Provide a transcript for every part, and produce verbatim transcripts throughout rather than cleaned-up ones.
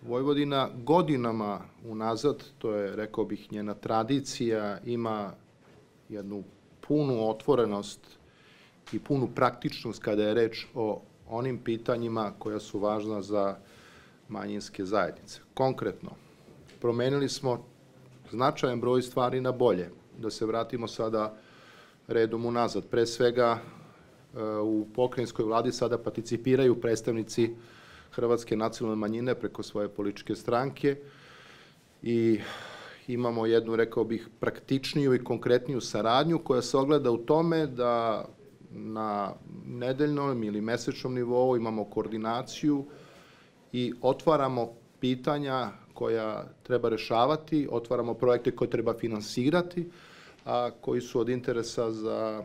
Vojvodina godinama unazad, to je, rekao bih, njena tradicija, ima jednu punu otvorenost i punu praktičnost kada je reč o onim pitanjima koja su važna za manjinske zajednice. Konkretno, promenili smo značajan broj stvari na bolje. Da se vratimo sada redom unazad. Pre svega, u pokrajinskoj vladi sada participiraju predstavnici hrvatske nacionalne manjine preko svoje političke stranke i imamo jednu, rekao bih, praktičniju i konkretniju saradnju koja se ogleda u tome da na nedeljnom ili mesečnom nivou imamo koordinaciju i otvaramo pitanja koja treba rešavati, otvaramo projekte koje treba finansirati, a koji su od interesa za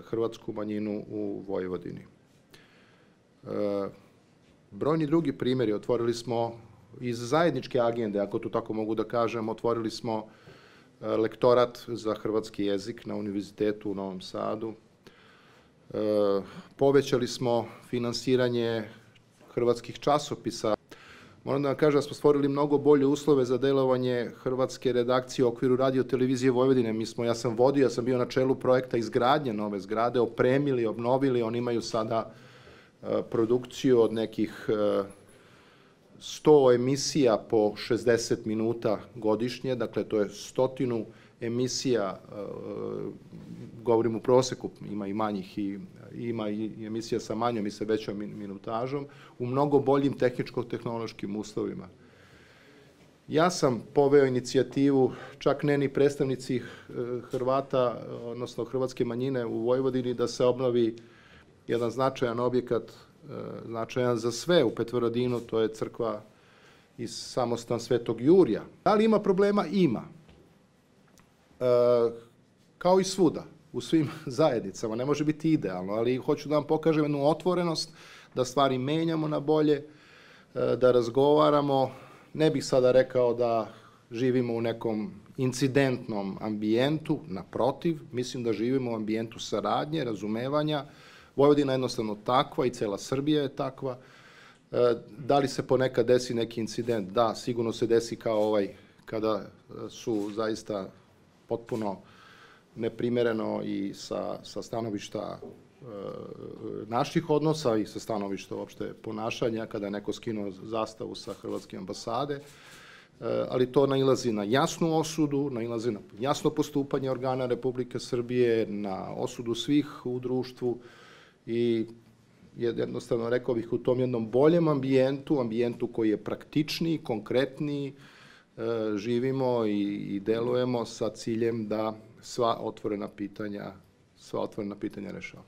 hrvatsku manjinu u Vojvodini. Brojni drugi primjeri, otvorili smo iz zajedničke agende, ako to tako mogu da kažem, otvorili smo lektorat za hrvatski jezik na Univerzitetu u Novom Sadu, povećali smo finansiranje hrvatskih časopisa. Moram da vam kažem da smo stvorili mnogo bolje uslove za delovanje hrvatske redakcije u okviru radio televizije Vojvodine. Mi smo, ja sam vodio, ja sam bio na čelu projekta izgradnje nove zgrade, opremili, obnovili, oni imaju sada produkciju od nekih sto emisija po šezdeset minuta godišnje, dakle to je stotinu emisija, govorim u proseku, ima i manjih i ima i emisija sa manjom i sa većom minutažom, u mnogo boljim tehničko-tehnološkim uslovima. Ja sam poveo inicijativu, čak ne ni predstavnici Hrvata, odnosno hrvatske manjine u Vojvodini, da se obnovi jedan značajan objekat, značajan za sve u Petrovaradinu, to je crkva i samostan Svetog Jurija. Da li ima problema? Ima. Kao i svuda, u svim zajednicama, ne može biti idealno, ali hoću da vam pokažem jednu otvorenost, da stvari menjamo na bolje, da razgovaramo. Ne bih sada rekao da živimo u nekom incidentnom ambijentu, naprotiv, mislim da živimo u ambijentu saradnje, razumevanja. Vojvodina je jednostavno takva i cela Srbija je takva. Da li se ponekad desi neki incident? Da, sigurno se desi kao ovaj, kada su zaista potpuno neprimereno i sa, sa stanovišta e, naših odnosa i sa stanovišta uopšte ponašanja, kada je neko skinuo zastavu sa hrvatske ambasade, e, ali to nailazi na jasnu osudu, nailazi na jasno postupanje organa Republike Srbije, na osudu svih u društvu i jednostavno, rekao bih, u tom jednom boljem ambijentu, ambijentu koji je praktičniji, konkretniji, e, živimo i, i delujemo sa ciljem da sva otvorena pitanja, sva otvorena pitanja rešava.